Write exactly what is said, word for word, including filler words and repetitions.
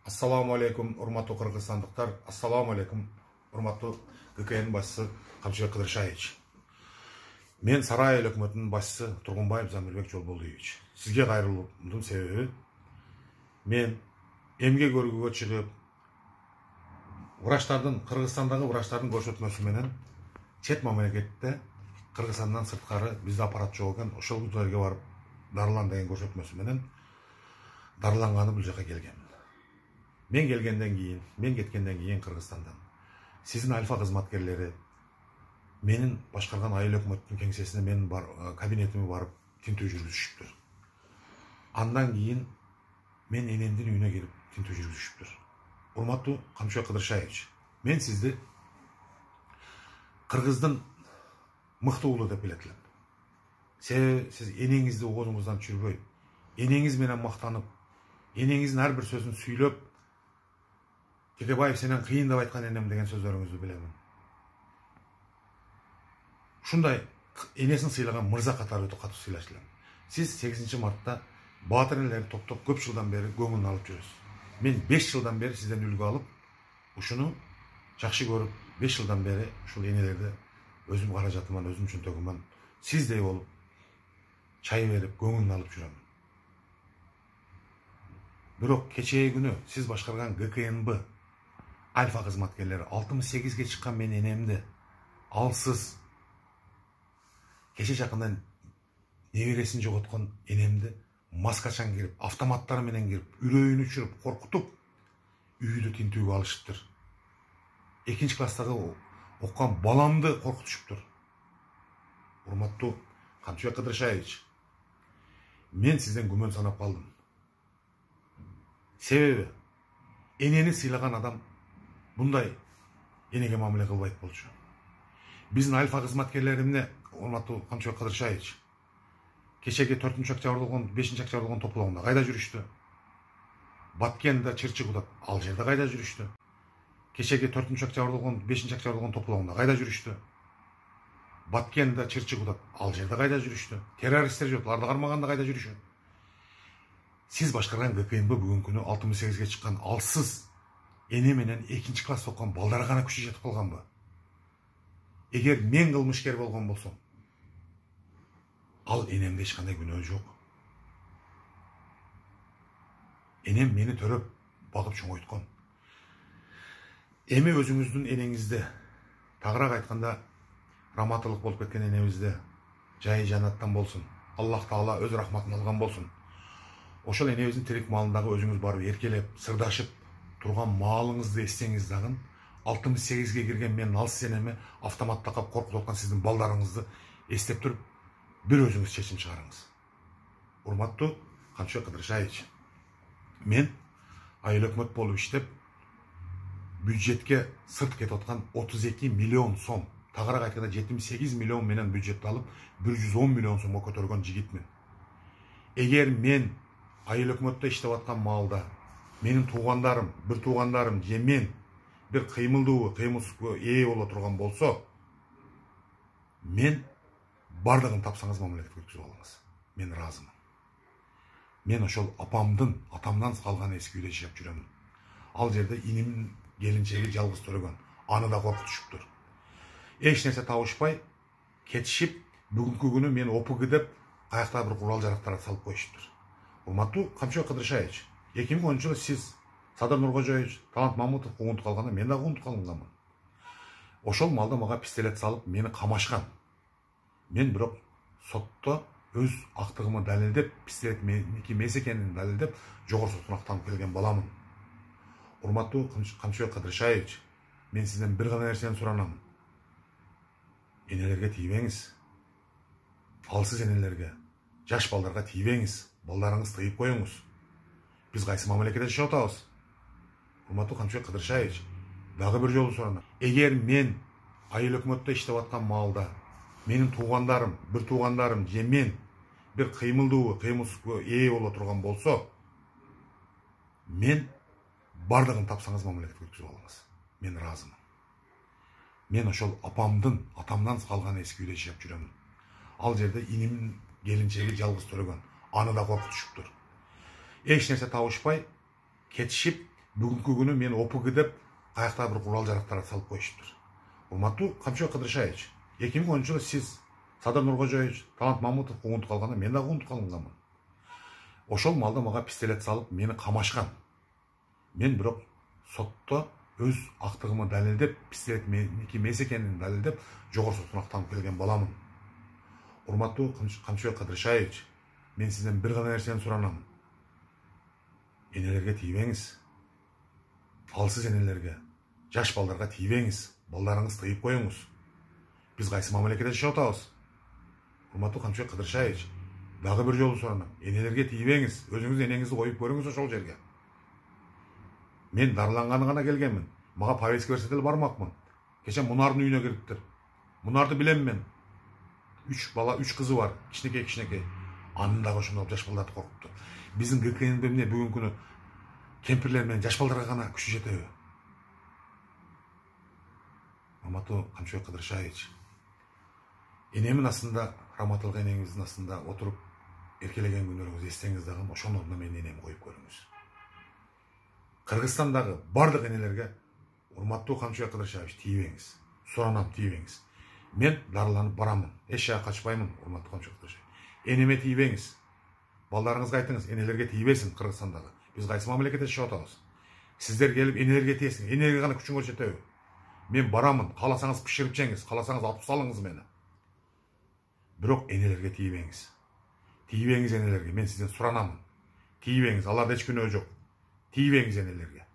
Ассаламу алейкум, урматтуу кыргызстандыктар. Ассаламу алейкум, урматтуу ГКН башчысы Камчыбек Кыдыршаевич. Мен Сарай эл өкмөтүнүн башчысы Тургунбаев Замирбек Жолболдуевич. Сизге кайрылуумдун себеби мен эмгек өргүгө чыгып, врачтардын Кыргызстандагы врачтардын көрсөтмөсү менен чет мамлекетте Кыргызстандан сырткары бизде аппарат жок экен, ошол жерге барып дарылан деген көрсөтмөсү менен дарыланганы бул жака келгем. Мен келгенден кийин, мен кеткенден кийин Кыргызстандан сиздин альфа кызматкерлери менин башкарган айыл өкмөттүн кеңсесине менин бар кабинетиме барып тинтүү жүргүзүшүптүр. Андан кийин мен энемдин үйүнө келип тинтүү жүргүзүшүптүр. Урматтуу Камчыбек Кыдыршаевич, мен сизди Кыргыздын мыкты уулу деп билет элем. Себеби сиз энеңизди оозуңуздан түшүрбөй, энеңиз менен мактанып, энеңиздин ар бир сөзүн сүйлөп, Текебаев сенен кыйын деп айткан энем деген сөздөрүңүздү билемин. Ушундай энесин сыйлаган мырза катары өтө катуу сыйлаш элем. Сиз сегизинчи мартта баатыр энелерди топтоп көп жылдан бери көңүлүн алып жүрөсүз. Мен беш жылдан бери сизден үлгү алып, ушуну жакшы көрүп, беш жылдан бери ушул энелерди өзүм каражатыман, өзүм чөнтөгүмөн сиздей болуп чай берип, көңүлүн алып жүрөм. Бирок кечеги күнү сиз башкарган ГКНБ альфа кызматкерлери алтымыш сегизге чыккан мен энемди алсыз кече жакындан небересин жоготкон энемди маскачан кирип, автоматтары менен кирип, үрөйүн учуруп, коркутуп, үйдү тинтүүгө алышыптыр. Экинчи класстагы оккан баламды коркутушуптур. Урматтуу Камчыбек Кыдыршаевич, мен сизден күмөн санап калдым. Себеби энени сыйлаган адам мындай энеге мамиле кылбайт болчу. Биздин альфа кызматкерлеримне, урматтуу Камчыбек Кыдыршаевич, кечеги төртүнчү октябрдын бешинчи октябрдын топлогунда кайда жүрүштү? Баткенде Чырчыгуда ал жерде кайда жүрүштү? Кечеги төртүнчү октябрдын бешинчи октябрдын топлогунда кайда жүрүштү? Баткенде Чырчыгуда ал жерде кайда жүрүштү? Террористтер жок, аларды кармаганда кайда жүрүшөт? Сиз башкарган ГКНБ бүгүнкү күнү алтымыш сегизге чыккан алсыз эне менен экинчи класс окуган балдары гана күчү жетип калганбы? Эгер мен кылмышкер болгон болсом, ал энемде эч кандай күнөө жок. Энем мени төрөп, багып чоңойткон. Эми өзүңүздүн энеңизди, тагыраак айтканда, раматылык болуп кеткен энебизди жайы жанаттан болсун. Аллах Таала өз рахматын алган болсун. Ошол энебиздин тирик маалындагы өзүңүз барып эркелеп, сырдашып турган маалыңызды эстеңиз дагы, алтымыш сегизге кирген менин алсыз энеме автомат такап коркутуп аткан сиздин балдарыңызды эстеп туруп, бир өзүңүз чечим чыгарыңыз. Урматтуу Камчыбек Кыдыршаевич, мен айыл өкмөт болуп иштеп, бюджетке сырт кетип аткан отуз эки миллион сом, тагыраак айтканда жетимиш сегиз миллион менен бюджетти алып, бир жүз он миллион сомго көтөргөн жигитмин. Эгер мен айыл өкмөттө иштеп аткан маалда менин туугандарым, бир туугандарым же мен бир кыймылдуу, кыймылсызга ээ боло турган болсо, мен бардыгын тапсаңыз мамлекетке өткүзүп алыңыз. Мен ыраазымын. Мен ошол апамдын, атамдан калган эски үйдө жашап жүрөмүн. Ал жерде инимдин келинчеги жалгыз төрөгөн, аны да коркутушуптур. Эч нерсе табышпай кетишип, бүгүнкү күнү мен ОПГ деп каякта бир курал жарактарды салып коюшуптур. Урматтуу Камчыбек Кыдыршаевич, эки миң онунчу жылы сиз Садыр Нуркожоевич, Талант Мамутов куугунтуп калганда мен да куугунтуп калганмын. Ошол маалда мага пистолет салып, мени камашкан. Мен бирок сотто өз актыгымы далилдеп, пистолет меники эмес экенин далилдеп, жогорку соттун актанып келген баламын. Урматтуу Камчыбек Кыдыршаевич, мен сизден бир гана нерсени суранам. Энелерге тийбеңиз. Алсыз энелерге, жаш балдарга тийбеңиз. Балдарыңыз тыйып коюңуз. Биз кайсы мамлекетте жашап атабыз? Урматтуу Камчыбек Кыдыршаевич, дагы бир жолу суранам. Эгер мен айыл өкмөттө иштеп аткан маалда менин туугандарым, бир туугандарым же мен бир кыймылдуу, кыймылсызга ээ боло турган болсо, мен бардыгын тапсаңыз мамлекетке өткүзүп алыңыз. Мен ыраазымын. Мен ошол апамдын, атамдан калган эски үйдө жашап жүрөмүн. Ал жерде инимдин келинчеги жалгыз төрөгөн, аны да коркутушуптур. Эч нерсе табышпай кетишип, бүгүнкү күнү мен ОПГ деп каякта бир курал жарактарды салып коюшуптур. Урматтуу Камчыбек Кыдыршаевич, эки миң онунчу жылы сиз, Садыр Нуркожоевич, Талант Мамутов куугунтук алганда мен да куугунтук алынганмын. Ошол маалда мага пистолет салып мени камашкан. Мен бирок сотто өз актыгымы далилдеп, пистолет меники эмес экенин далилдеп, жогорку соттун актанып келген боламын. Урматтуу Камчыбек Кыдыршаевич, мен сизден бир гана нерсени суранам. Энелерге тийбеңиз. Алсыз энелерге, жаш балдарга тийбеңиз. Балдарыңыз тыйып коюңуз. Биз кайсы мамлекетте жашап атабыз? Урматтуу Камчыбек Кыдыршаевич, дагы бир жолу суранам. Энелерге тийбеңиз. Өзүңүз энеңизди коюп көрүңүз ошол жерге. Мен дарыланганы гана келгенмин. Мага повестка берсе деле бармакмын. Кече Мунардын үйүнө кириптир. Мунарды билем мен. Үч бала, үч кызы бар. Кичинекей кичинекей. Анын дагы ошондой жаш балдарды коркупту. Биздин ГКНде эмне бүгүнкү күнү кемпирлер менен жаш балдарга гана күчү жетеби? Урматтуу Камчыбек Кыдыршаевич, энемин астында, раматылык энеңиздин астында отуруп эркелеген күнүңүздү эстеңиз дагы ошонун ордуна менин энеми коюп көрүңүз. Кыргызстандагы бардык энелерге урматтуу Камчыбек Кыдыршаевич тийбеңиз. Суранам, тийбеңиз. Мен дарыланып барамын. Эч жака качпаймын, урматтуу Камчыбек Кыдыршаевич. Энеме тийбеңиз. Балдарыңызга айтыңыз, энелерге тийбесин Кыргызстандагы. Биз кайсы мамлекетте жашап атабыз? Сиздер келип энелерге тиесиң. Энелерге гана күчүңөр жетеби? Мен барамын. Кааласаңыз пиширип жеңиз, кааласаңыз атып салыңыз мени. Бирок энелерге тийбеңиз. Тийбеңиз энелерге. Мен сизден суранамын. Тийбеңиз. Аларда эч күнөө жок. Тийбеңиз энелерге.